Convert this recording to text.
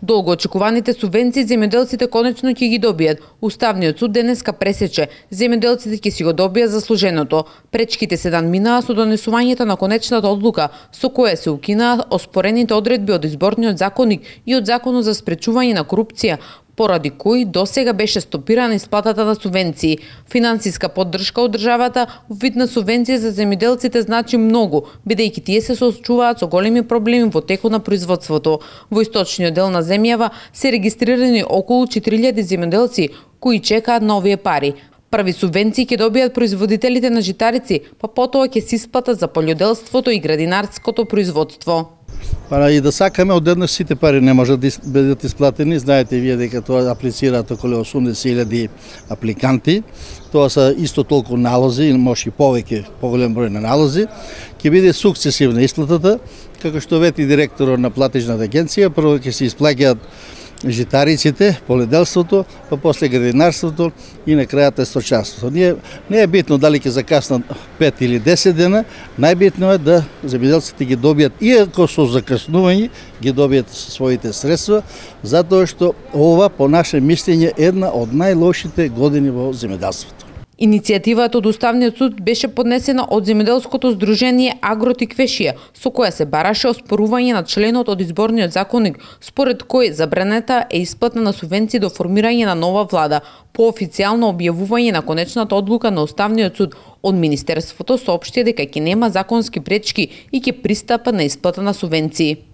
Долго очекуваните субвенции земјоделците конечно ќе ги добијат. Уставниот суд денеска пресече земјоделците ќе си го добијат заслуженото. Пречките се минаа со донесувањето на конечната одлука со која се укинаа оспорените одредби од изборниот законник и од законот за спречување на корупција, поради кои досега беше стопирана исплатата на субвенции. Финансиска поддршка од државата во вид на субвенција за земјоделците значи многу, бидејќи тие се соочуваат со големи проблеми во текот на производството. Во источниот дел на земјава се регистрирани околу 4000 земјоделци кои чекаат на овие пари. Први субвенции ќе добијат производителите на житарици, па потоа ќе се исплатат за полјоделството и градинарското производство. И да сакаме одеднаш сите пари не можат да бидат исплатени. Знаете вие дека тоа аплицираат околу 80.000 апликанти. Тоа се исто толку налози, или може и повеќе, поголем број на налози. Ќе биде сукцесивна исплатата, како што вети директорот на платежната агенција, прво ќе се исплаќаат житариците, полјоделството, па после градинарството и на крајата сточарството. Не е битно дали ќе закаснат 5 или 10 дена, најбитно е да земјоделците ги добијат, иако со закаснување, ги добијат своите средства, затоа што ова, по наше мислење, е една од најлошите години во земјоделството. Иницијативата од Уставниот суд беше поднесена од земјоделското здружение Агротиквешија, со која се бараше оспорување на членот од изборниот законник, според кој забранета е исплата на субвенции до формирање на нова влада. По официјално објавување на конечната одлука на Уставниот суд, од Министерството соопшти дека ќе нема законски пречки и ќе пристапат на исплата на субвенции.